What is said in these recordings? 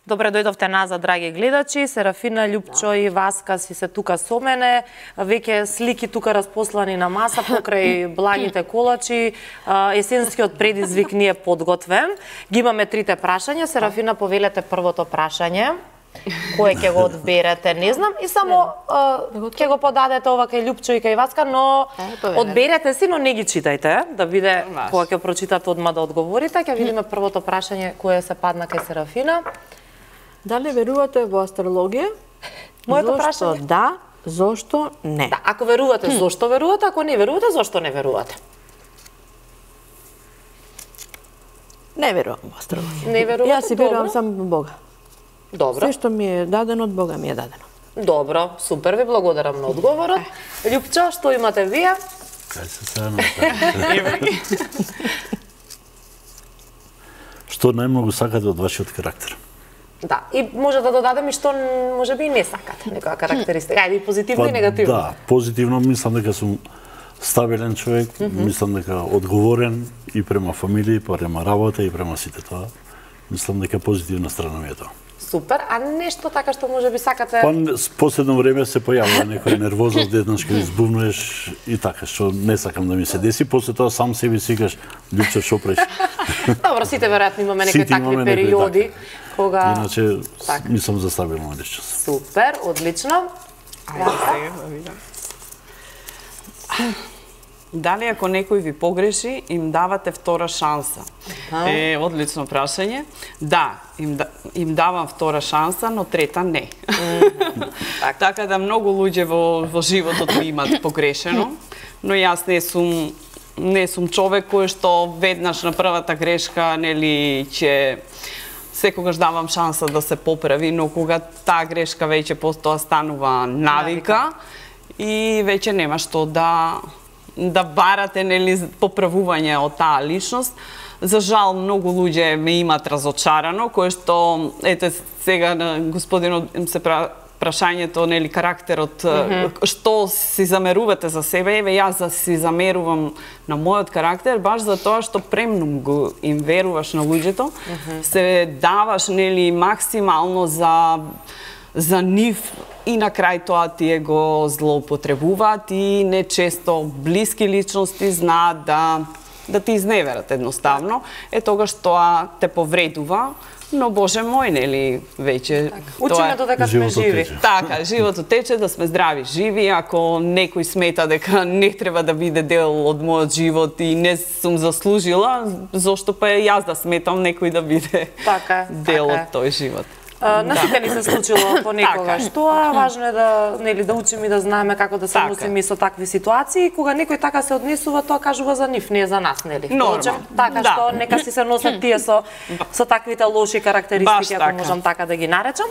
Добре дојдовте назад, драги гледачи. Серафина, Љупчо и Васка си се тука со мене. Веќе слики тука распослани на маса покрај благите колачи. Есенскиот предизвик ни е подготвен. Ги имаме трите прашања. Серафина, повелете првото прашање. Кој ќе го одберете, не знам. И само ќе го подадете ова кај Љупчо и кај Васка, но одберете си, но не ги читајте, да биде кога ќе прочитате одма да одговорите. Ќе видиме првото прашање кое се падна кај Серафина. Дали верувате во астрологија? Моето прашање? Зошто да, зошто не? Да, ако верувате, зошто верувате, ако не верувате, зошто не верувате? Не верувам во астрологија. Не верувате? Јас си верувам само во Бога. Добро. Се што ми е дадено од Бога ми е дадено. Добро, супер, ви благодарам на одговорот. Љупчо, што имате вие? Кај се сајаме. Што најмногу сакате од вашиот карактер? Да, и може да додадем и што може би и не сакате, некоја карактеристика. Ајде, и позитивно и негативно. Да, позитивно мислам дека сум стабилен човек, мислам дека одговорен и према фамилија, и према работа, и према сите тоа. Мислам дека позитивна страна ми е тоа. Супер, а нешто така што може би сакате? Па, последно време се појавува некоја нервозност, еднаш кога избувнуваш и така, што не сакам да ми се деси, после тоа сам себе си кажеш, Љупчо, шо преш? Добро, сите веројатно имаме некои такви периоди, кога... Иначе, мислам за стабилно личност. Супер, одлично. Дали ако некој ви погреши, им давате втора шанса? Одлично прашање. Да, им давам втора шанса, но трета не. Така да многу луѓе во животот ми имат погрешено, но јас не сум човек кој што веднаш на првата грешка, нели, ќе секогаш давам шанса да се поправи, но кога таа грешка веќе постоа станува навика и веќе нема што да барате, нели, поправување од таа личност. За жал, многу луѓе ме имат разочарано, кое што, ете, сега на господинот се прашањето, нели, карактерот, што си замерувате за себе, еве, јас си замерувам на мојот карактер, баш за тоа што премногу им веруваш на луѓето, се даваш, нели, максимално за нив и на крај тоа тие го злоупотребуваат и нечесто блиски личности знаат да ти изневерат едноставно. Тогаш тоа те повредува, но Боже мој, нели, веќе... Учиме додека сме живи. Така, животот тече, да сме здрави, живи. Ако некој смета дека не треба да биде дел од мојот живот и не сум заслужила, зошто па јас да сметам некој да биде дел од тој живот. На сите ни се случило понекогаш тоа, важно е да, нели, да учиме и да знаеме како да се носиме со такви ситуации. Кога некој така се однесува, тоа кажува за нив, не за нас, нели? Така што нека си се носат тие со таквите лоши карактеристики, ако можам така да ги наречам.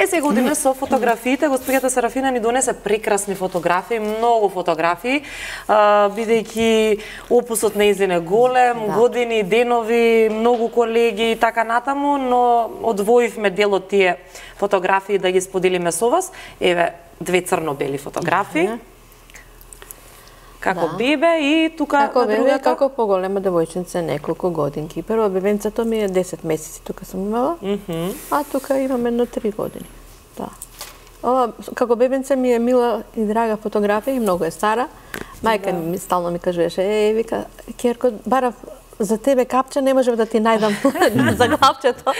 Сега одиме со фотографиите. Господјата Серафина ни донесе прекрасни фотографии, многу фотографии, бидејќи опусот нејзин е голем, години, денови, многу колеги и така натаму, но одвоивме дел од тие фотографии да ги споделиме со вас. Еве, две црно-бели фотографии. Како бебе и тука како на другата. Како како поголема девојчица, неколку годинки. Прво бебенцето ми е 10 месеци, тука сум имала, а тука имам едно 3 години. Да. Ова, како бебенце ми е мила и драга фотографија и многу е стара. Мајка ми стално ми кажеше, вика, Керко, барав за тебе капче, не можев да ти најдам за капчето.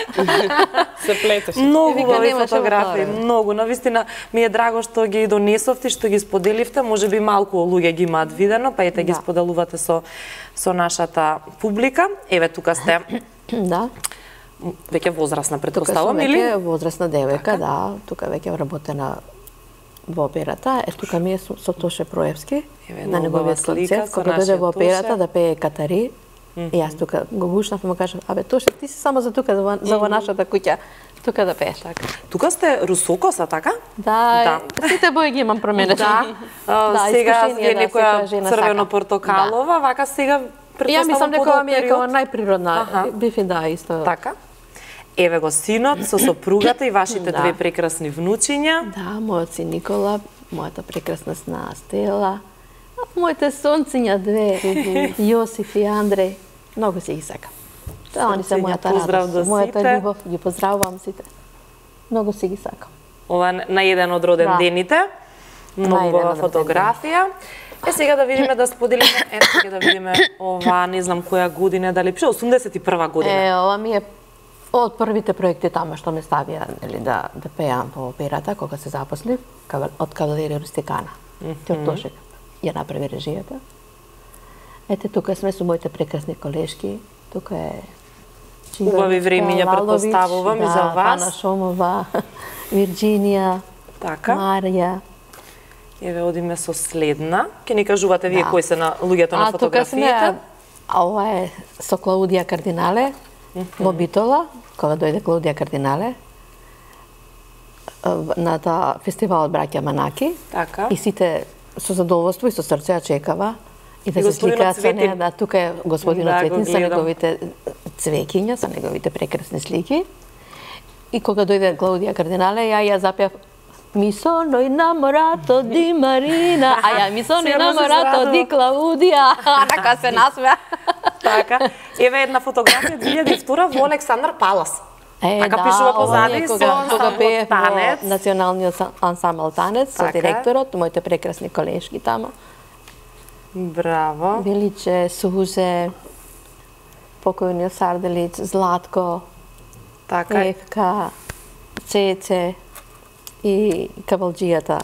Се плетеш. Многу убави фотографии, многу. Навистина ми е драго што ги донесовте, што ги споделивте. Може би малку луѓе ги имаат видено, па ете ги споделувате со нашата публика. Еве, тука сте. Да. Веќе возрастна, претпоставувам, или? Тука сум веќе возрастна девојка, да. Тука веќе вработена во операта. Тука ми е со Тоше Проевски, на неговиот концерт, кога дојде во операта да пее Катари. И јас тука го гушнав и му кажав, абе Тоше, ти си само за тука, за во нашата куќа, тука да пееш. Тука сте русокоса, така? Да, сите бои ги имам променети. Сега е некоја црвено-портокалова, вака сега ја мислам дека ми е како најприродна. Бифи, да, исто. Така. Еве го синот со сопругата и вашите две прекрасни внучиња. Да, мојот син Никола, мојата прекрасна сна Стела, моите сонциња две, Јосиф и Андреј, многу си ги сакам. Тоа они се мојата радост, мојата љубов, ги поздравувам сите. Многу си ги сакам. Ова на еден од роден дените. Многу убава фотографија. Сега да видиме, да споделиме, сега да видиме ова, не знам која година, дали пише 81 година. Ова ми е од првите проекти тама што ме ставија да пеам по операта кога се запослив од Кавалерија Рустикана. Тошек ја направи режијата. Ете, тука сме со моите прекрасни колешки. Тука е убави времиња, претпоставувам и за вас. Ана Шомова, Вирџинија, Марија. Еве, одиме со следна. Ке ни кажувате вие кои се на луѓето на фотографиите. Ова е со Клаудија Кардинале во Битола, кога дојде Клаудија Кардинале на таа фестивал од браќа Манаки. И сите со задоволство и со срце ја чекава и да се сликаат со неа. Да, тука е господинот Цветин со неговите цвеќиња, со неговите прекрасни слики. И кога дојде Клаудија Кардинале, ја запеав Mi sono innamorato di Marina, mi sono innamorato di Claudia. Така се насмеа. Така. Еве една фотографија 2002 во Александар Палас. Така пишува позади со ансамбл Танец. Националниот ансамбл Танец со директорот, моите прекрасни колешки тама. Браво. Величе, Сузе, покојниот Сарделиц, Златко, Евка, Цеце и Кавалџијата,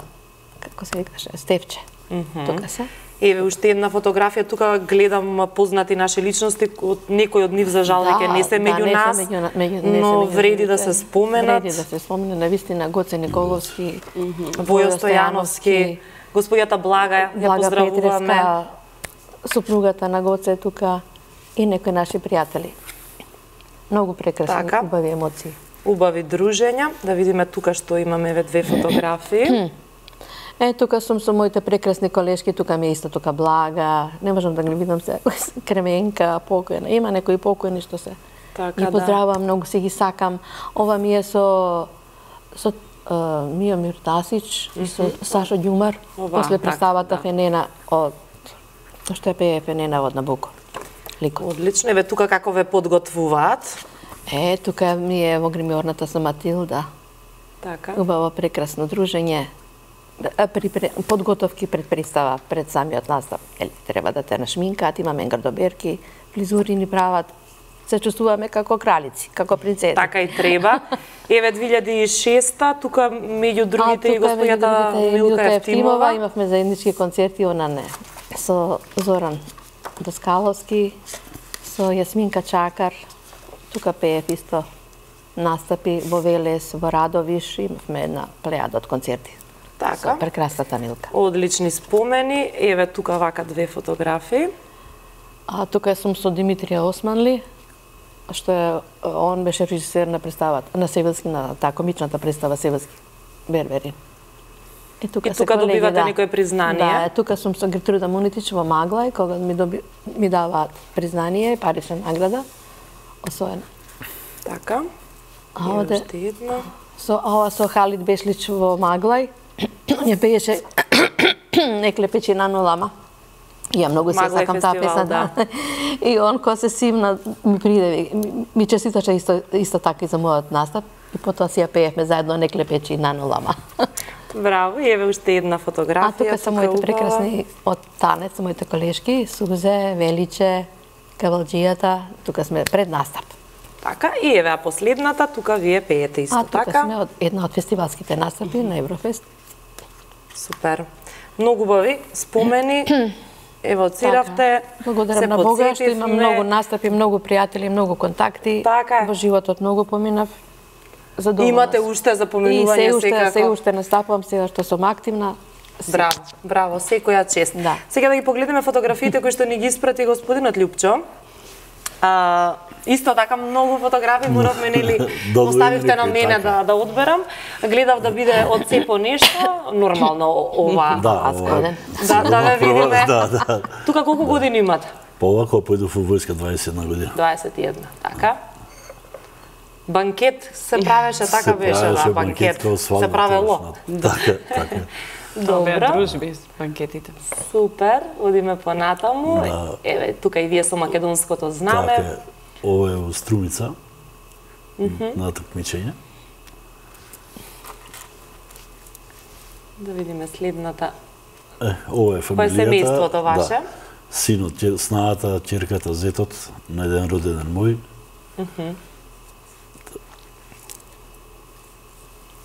како се викаше, Стефче. Тука се. Еве, уште една фотографија, тука гледам познати наши личности, некој од нив за жал веќе не се меѓу нас, но вреди да се споменат. Вреди да се споменат, навистина Гоце Николовски, Војо Стојановски, господјата Блага, ја поздравуваме. Петреска, супругата на Гоце тука и некои наши пријатели. Многу прекрасни, убави емоции. Убави дружења. Да видиме тука што имаме еве две фотографии. Тука сум со моите прекрасни колешки, тука ми е исто тука Блага, не можам да ги видам се, Кременка, покојна, има некои покојни што се. Ги поздравувам, многу си ги сакам. Ова ми е со Миомир Тасич, со Сашо Ѓумар, после представата Фенена од што е пее Фенена од Набуко. Одлично, еве тука како ве подготвуваат. Тука ми е во гримиорната со Матилда. Убаво прекрасно дружење. Подготовки пред представа, пред самиот настап. Треба да те нашминкаат, имаме гардоберки, фризури ни прават. Се чувствуваме како кралици, како принцеси. Така и треба. Еве 2006-та, тука меѓу другите и господјата Милка Евтимова. Имавме заеднички концерти, она не. Со Зоран Доскаловски, со Јасминка Чакар. Тука пеев исто настапи во Велес, во Радовиш, имавме една плејада од концерти. Така. Со прекрасната Милка. Одлични спомени. Еве тука вака две фотографии. Тука сум со Димитрија Османли, што е, он беше режисер на представата, на Севилски, на таа комичната представа Севилски, Берберин. И тука добивате некој признание. Да, тука сум со Гертруда Мунитич во Маглај, кога ми даваат признание, парична награда, освоена. Така. Уште една. Со Халид Бешлич во Маглај, ја пееше Некле печина но лама. Ја многу се сакам таа песна, да. И он кога се симна ми приде, ми честиташе исто така и за мојот настап и потоа си ја пеевме заедно Некле печина но лама. Браво, и еве уште една фотографија. Тука се моите прекрасни од Танец, моите колешки, Сузе, Величе, Кавалџијата, тука сме пред настап. Така, и еве последната, тука вие пеете исто така. Тука сме една од фестивалските настапи на Еврофест. Супер. Многу убави спомени. Ево, оциравте. Благодарам на Бога што имам многу настапи, многу пријатели, многу контакти. Така. Во животот многу поминав. Имате уште за поминување секако. Се уште настапувам сега што сум активна. Браво, браво, секоја чест. Да. Сега да ги погледнеме фотографиите кои што ни ги испрати господинот Љупчо. Исто така многу фотографии моравме, нели, оставивте на мене да одберам. Гледав да биде од се по нешто, нормално ова. Да ве видиме. Тука колку години имате? Па ова кога појдов во војска 21 година. 21, така. Банкет се правеше, така беше, да, банкет. Се правело. Така, така. Добра. Дружби с банкетите. Супер, одиме понатаму. Еве, тука и вие со македонското знаме. Така, ова е во Струмица, на такмичење. Да видиме следната. Ова е фамилијата. Кој е семејството ваше? Да. Синот, снаата, ќерката, зетот на еден родеден мој.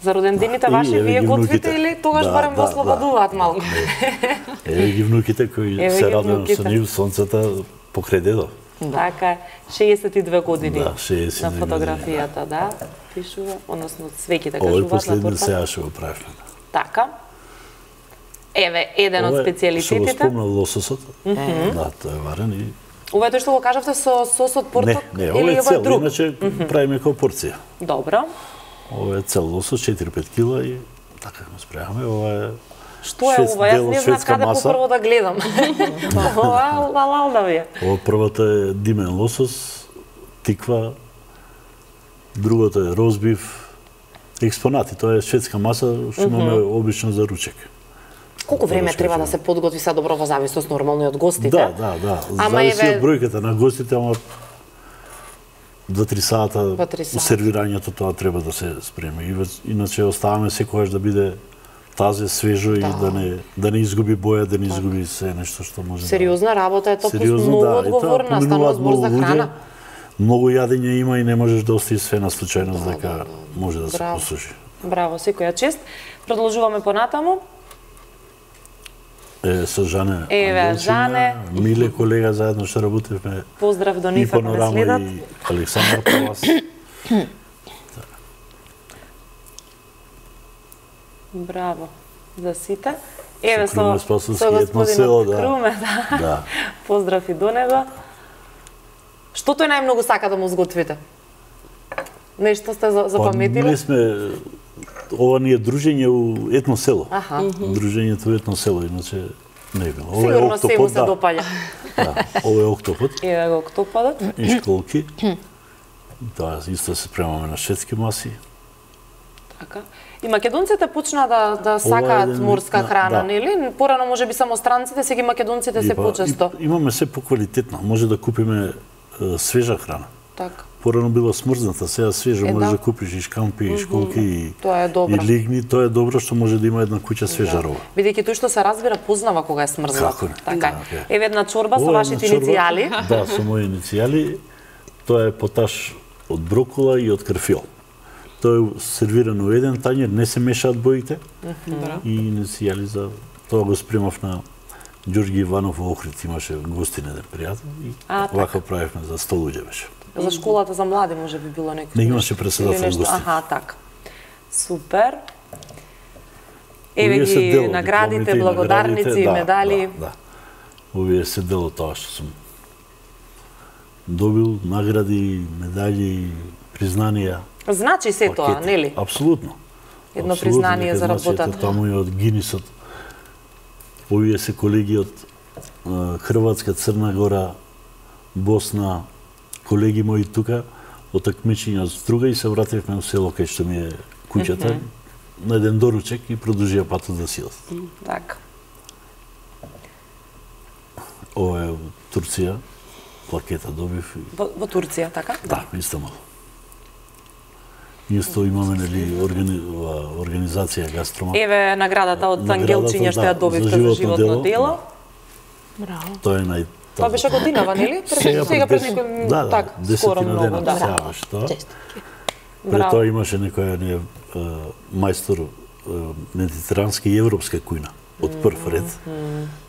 За родендените ваши вие готвите или тогаш барем во ослободуваат малку? Еве ги внуките кои се радувам со нив, сонцата покрај дедо. Така, 62 години Да, 62 на фотографијата, да, пишува, односно свеќите кажуваат Ова на е последен торта. сега што го правевме. Така. Еве, еден од специјалитетите. Што го спомнал лососот. Да, тоа е варен и... Ова е тоа што го кажавте со сосот порток? Не, ова е цел, иначе правиме како порција. Добро. Ова е цел лосос, 4-5 кила и така го спреаваме. Ова е Што е ова? Јас не знам каде попрво да гледам. Ова лалал да ви е. Ова првата е димен лосос, тиква, другото е розбив, експонати. Тоа е шведска маса што имаме обично за ручек. Колку време треба да се подготви се добро во зависност нормално од гостите? Да. Зависи од бројката на гостите, ама 2-3 сата сервирањето тоа треба да се спреми. Иначе оставаме секогаш да биде тазе, свежо и да не изгуби боја, да не изгуби се нешто што може. Сериозна работа е тоа, многу одговорна, станува збор за храна. Многу јадење има и не можеш да оставиш све на случајност дека може да се посуши. Браво, секоја чест. Продолжуваме понатаму. Со Жане Жане. Миле колега, заедно што работевме. Поздрав до нив, ако не следат. И Александар Палас. Браво за сите. Еве со господинот Круме, да. Поздрав и до него. Што тој најмногу сака да му сготвите? Нешто сте запаметиле? Ние сме, ова ни е дружење у етно село. Дружењето у етно село, иначе не е било. Сигурно се му се допаѓа. Да, ова е октопод. Еве го октоподот. И школки. Тоа исто се спремаме на шведски маси. Така. И македонците почна да сакаат морска храна, нели? Порано можеби само странците, сега македонците се почесто. Имаме се поквалитетно, може да купиме свежа храна. Така. Порано била смрзната, сега свежа можеш да купиш и шкампи, и школки, и лигни, тоа е добро што може да има една куќа свежа роба. Бидејќи тој што се разбира познава кога е смрзнат. Како не? Така. Еве една чорба со вашите иницијали. Да, со мои иницијали. Тоа е поташ од брокола и од карфиол. Тоа е сервирано во еден тањер, не се мешаат боите. И иницијали за тоа го спремав на Ѓорги Иванов во Охрид, имаше гостин еден пријател и вака правевме за 100 луѓе беше. За школата за млади може би било некој. Не имаше председател гостин. Аха, така. Супер. Еве ги наградите, благодарници, медали. Да. Овие се дел од тоа што сум добил, награди, медали, признанија. Значи се тоа, нели? Апсолутно. Едно признание за работата. Таму и од Гинисот. Овие се колеги од Хрватска, Црна Гора, Босна, колеги мои тука, од такмичење од Струга и се вративме во село кај што ми е куќата, на еден доручек и продолжија патот за силот. Така. Ова е во Турција, плакета добив. Во Турција, така? Да, Истанбул. Исто имаме нели организација Гастромат. Еве наградата од Ангелчиња што ја добивте за животно дело. Браво. Тоа е Тоа беше годинава, нели? Сега пред некој так, скоро многу, да. Сега беше тоа. Пред тоа имаше некој мајстор медитерански и европска кујна од прв ред.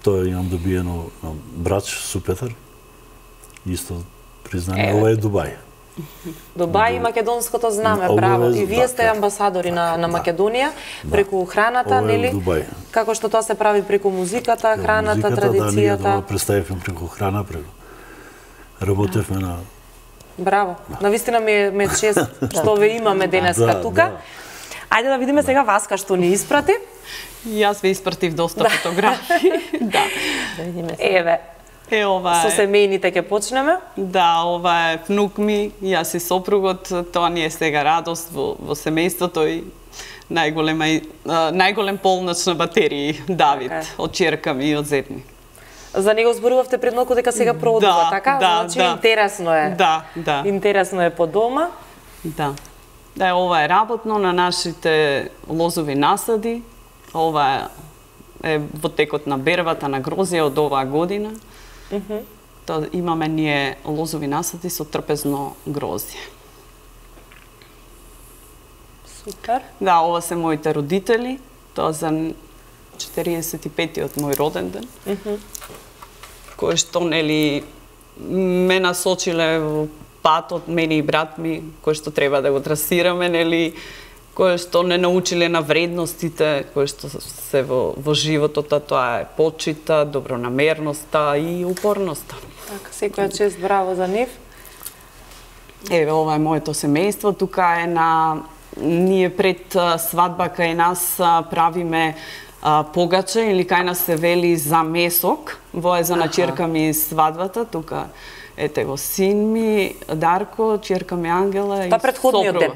Тоа имам добиено на Брач, Супетар. Исто признание, ова е Дубај. Дубај и македонското знаме, браво. И вие сте амбасадори на Македонија преку храната, нели? Како што тоа се прави преку музиката, храната, традицијата. Да, ние представивме преку храна, преку работевме на... Браво. Навистина ми е чест што ве имаме денеска тука. Ајде да видиме сега Васка што ни испрати. Јас ве испратив доста фотографии. Да. Да видиме сега. Еве. Со семејните ќе почнеме? Да, ова е внук ми, јас и сопругот, тоа ни е сега радост во семејството и најголем полноч на батерии Давид, од ќерка ми и од зет ми. За него зборувавте пред малку дека сега продува, така? Значи интересно е. Да. Интересно е по дома. Да. Да, ова е работно на нашите лозови насади, ова е во текот на бербата на грозија од оваа година. Тоа имаме ние лозови насади со трпезно грозје. Супер. Да, ова се моите родители. Тоа за 45-тиот мој роден ден. Кој што, нели, ме насочиле во патот, мене и брат ми, кој што треба да го трасираме, нели, кој што не научиле на вредностите, кој што се во животот, тоа е почита, добронамерноста и упорноста. Така, секоја чест, браво за нив. Еве, ова е моето семејство, тука е ние пред свадба кај нас правиме погаче, или кај нас се вели за месок, во е за начерка ми свадбата, тука ете го син ми Дарко, черка ми Ангела и предходниот ден.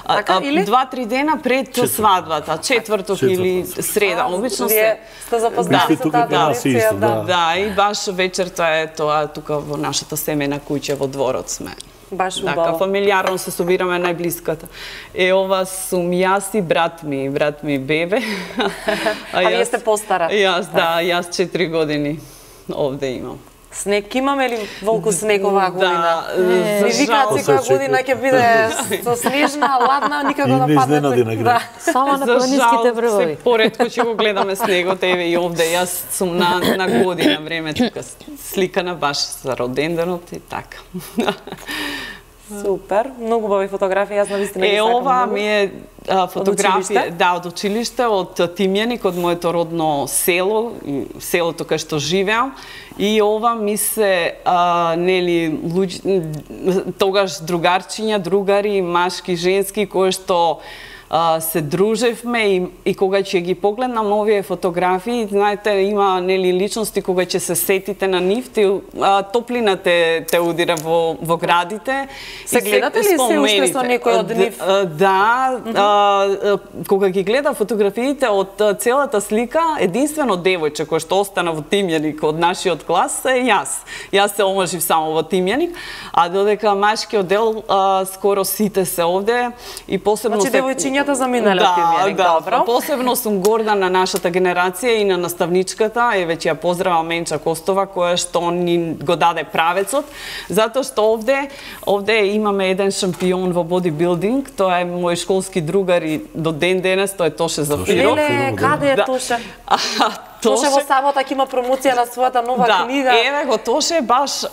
Така или 2-3 дена пред свадбата, четврток или среда, обично се. Сте запознати со таа традиција, да, и баш вечерта е тоа тука во нашата семејна куќа во дворот сме. Баш убаво. Така, фамилиарно се собираме најблиската. Ова сум јас и брат ми бебе. А вие сте постара? Јас 4 години овде имам. Снег имаме ли волку снег оваа година? Да, за жал. Секоја година ќе биде со снежна, ладна, никако да падне. Само на планинските бревови. Се поретко ќе го гледаме снегот, еве и овде. Јас сум на година време тука сликана баш за роденденот и така. Супер, многу убави фотографии, јас навистина ги сакам. Ова ми е фотографија, од училиште, од Тимјаник, од моето родно село, селото кај што живеам. И ова ми се, нели, тогаш другарчиња, другари, машки, женски, кои што се дружевме и кога ќе ги погледнам овие фотографии, знаете, има, нели, личности кога ќе се сетите на нив, топлина те удира во градите. Се гледате ли се уште со некој од нив? Да, кога ги гледам фотографиите од целата слика, единствено девојче кој што остана во Тимјаник од нашиот клас е јас. Јас се омажив само во Тимјаник, а додека машкиот дел скоро сите се овде и посебно се девојчињата заминале од Тимјаник, добро. Посебно сум горда на нашата генерација и на наставничката, веќе ја поздравам Менча Костова, која што ни го даде правецот, затоа што овде имаме еден шампион во бодибилдинг, тоа е мој школски другар и до ден денес, тоа е Тоше Зафиров. Леле, каде е Тоше? Тоше во саботак има промоција на својата нова книга. Еве го Тоше баш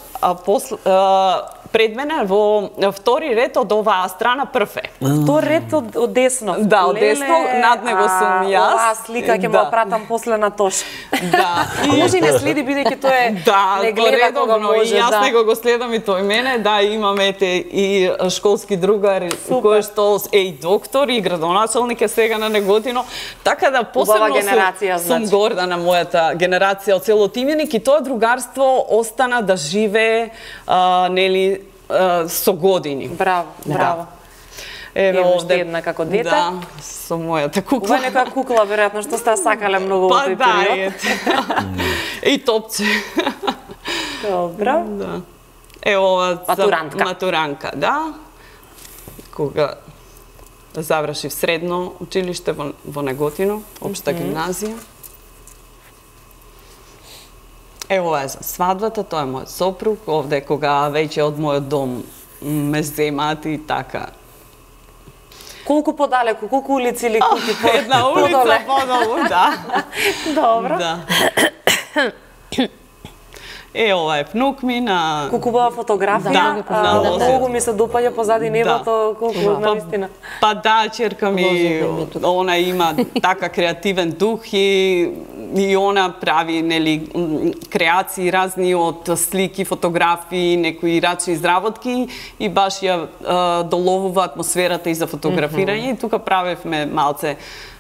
пред мене во втори ред од оваа страна прв е. Втори ред од десно. Да, од десно, над него сум јас. Оваа слика ќе му пратам после на Тоше. Да. Може и не следи, бидејќи тој не гледа кога може. Јас него го следам и тој мене. Да, имаме и школски другар кој што е и доктор и градоначалник е сега на Неготино. Така да посебно сум горда на мојата генерација од село Тимјаник и тоа другарство остана да живее, нели, со години. Браво, браво. Еве овде една како дете. Да, со мојата кукла. Ова е некоја кукла, веројатно, што сте сакале многу во тој период. И топче. Добро. Да. Ова матурантка, да. Кога завршив средно училиште во Неготино, општа гимназија. Ова е за свадбата, тоа е мојот сопруг, овде кога веќе од мојот дом ме земаат и така. Колку подалеку, колку улици или куќи подоле? Една улица подолу, да. Добро. Да. Ова е внук ми на... Колку бава фотографија, многу ми се допаѓа позади небото, колку навистина. Па да, черка ми, она има така креативен дух и она прави, нели, креации разни од слики, фотографии, некои рачни изработки и баш ја доловува атмосферата и за фотографирање и тука правевме малце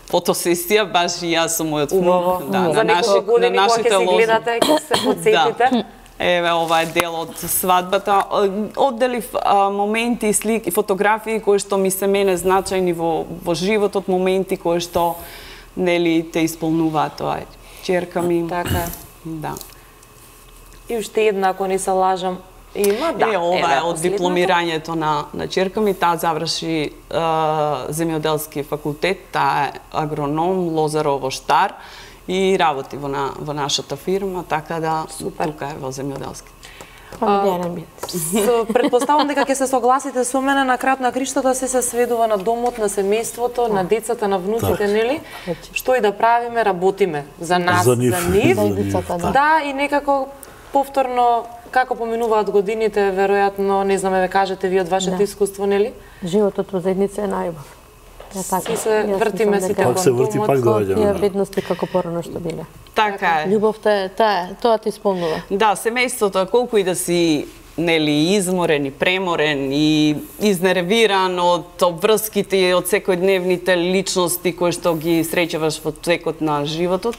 фотосесија, баш и јас со мојот внук. За некои години кога ќе се гледате, ќе се подсетите. Еве, ова е дел од свадбата. Одделив моменти, слики, фотографии кои што ми се мене значајни во животот, моменти кои што, нели, те исполнуваат тоа черка ми. Така. Да. И уште една, ако не се лажам, Има, да. Ова е од дипломирањето на ќерка ми, таа заврши земјоделски факултет, таа е агроном, лозар овоштар и работи во нашата фирма, така да тука е во земјоделски. Предпоставам дека ќе се согласите со мене, на крајот на криштата се сведува на домот, на семејството, на децата, на внуците, нели? Што и да правиме, работиме за нас, за нив. Да, и некако повторно како поминуваат годините, веројатно, не знаме, ве кажете ви од вашето искуство, нели? Животот во заедница е најубав. И се вртиме сите кон домот, тие вредности како порано што биле. Така е. Љубовта е тоа ти исполнува. Да, семејството, колку и да си изморен и преморен и изнервиран од обврските и од секојдневните личности кои што ги среќаваш во текот на животот,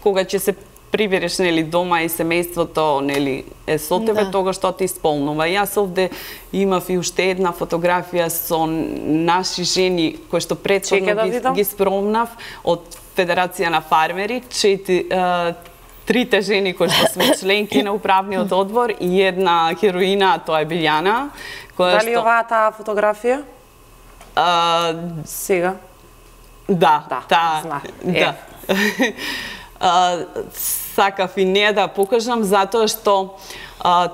кога ќе се прибереш дома и семејството е со тебе, тогаш што ти исполнува. Јас овде имав и уште една фотографија со наши жени кои што претходно ги спромнав од Федерација на фармери, трите жени кои што сме членки на управниот одбор и една хероина, тоа е Билјана. Дали оваа таа фотографија? Сега? Да, да. Сакав и не да покажам, затоа што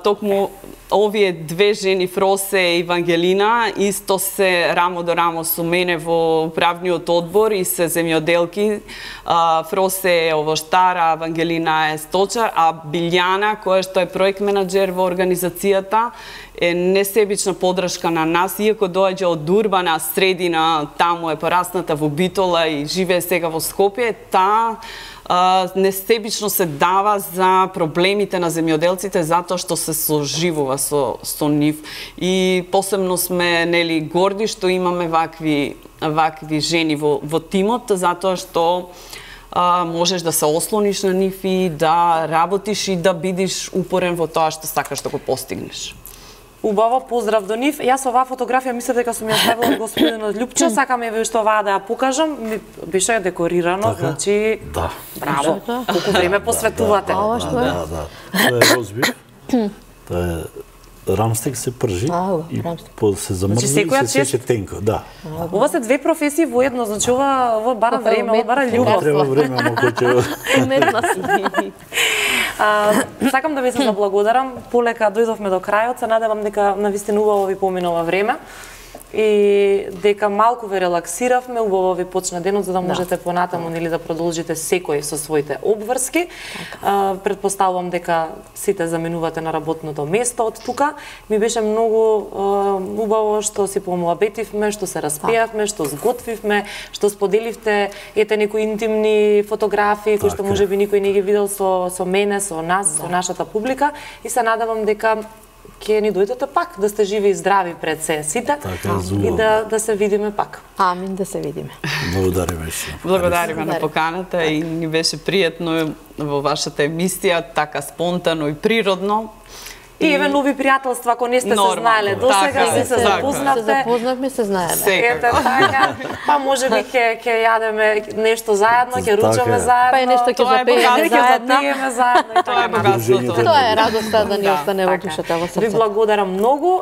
токму овие две жени, Фросе и Вангелина, исто се рамо до рамо со мене во управниот одбор и се земјоделки. Фросе е овоштар, а Вангелина е сточар, а Билјана, која што е проект менаџер во организацијата, е несебична подршка на нас, иако доаѓа од урбана средина, таму е порасната во Битола и живее сега во Скопје, таа несебично се дава за проблемите на земјоделците затоа што се соживува со нив. И посебно сме горди што имаме вакви жени во тимот, затоа што можеш да се ослониш на нив и да работиш и да бидиш упорен во тоа што сакаш да го постигнеш. Убаво, поздрав до нив. Јас оваа фотографија мислев дека сум ја ставила господинот Љупчо, сакаме ви уште оваа да ја покажам. Беше декорирано, значи браво. Колку време посветувате. Ова што е? Да. Тоа е розбив. Тоа е рамстек се пржи и се замрзне и се сече тенко, да. Ова се две професии воедно, значи ова бара време, ова бара љубов. Треба време, но ќе Сакам да ви се заблагодарам. Полека дојдовме до крајот, се надевам дека навистина убаво ви поминува време и дека малку ве релаксиравме, убаво ви почна денот за да можете понатаму да продолжите секој со своите обврски. Предпоставувам дека сите заменувате на работното место од тука. Ми беше многу убаво што си помуабетивме, што се распијавме, што сготвивме, што споделивте некои интимни фотографии кои што можеби никој не ги видел со мене, со нас, со нашата публика и се надевам дека ќе ни дојдете пак, да сте живи и здрави пред се сите и да се видиме пак. Амин, да се видиме. Благодариме. Благодариме на поканата и ни беше пријатно во вашата емисија, така спонтано и природно. И еве нови пријателства, ако не сте се знаеле досега, се запознавте. Се запознавме, се знаеме. Ете така, па можеби ќе јадеме нешто заедно, ќе ручаме заедно. Па и нешто ќе запееме заедно. Тоа е богатството. Тоа е радоста да ни остане во душата, во срцето. Ви благодарам многу.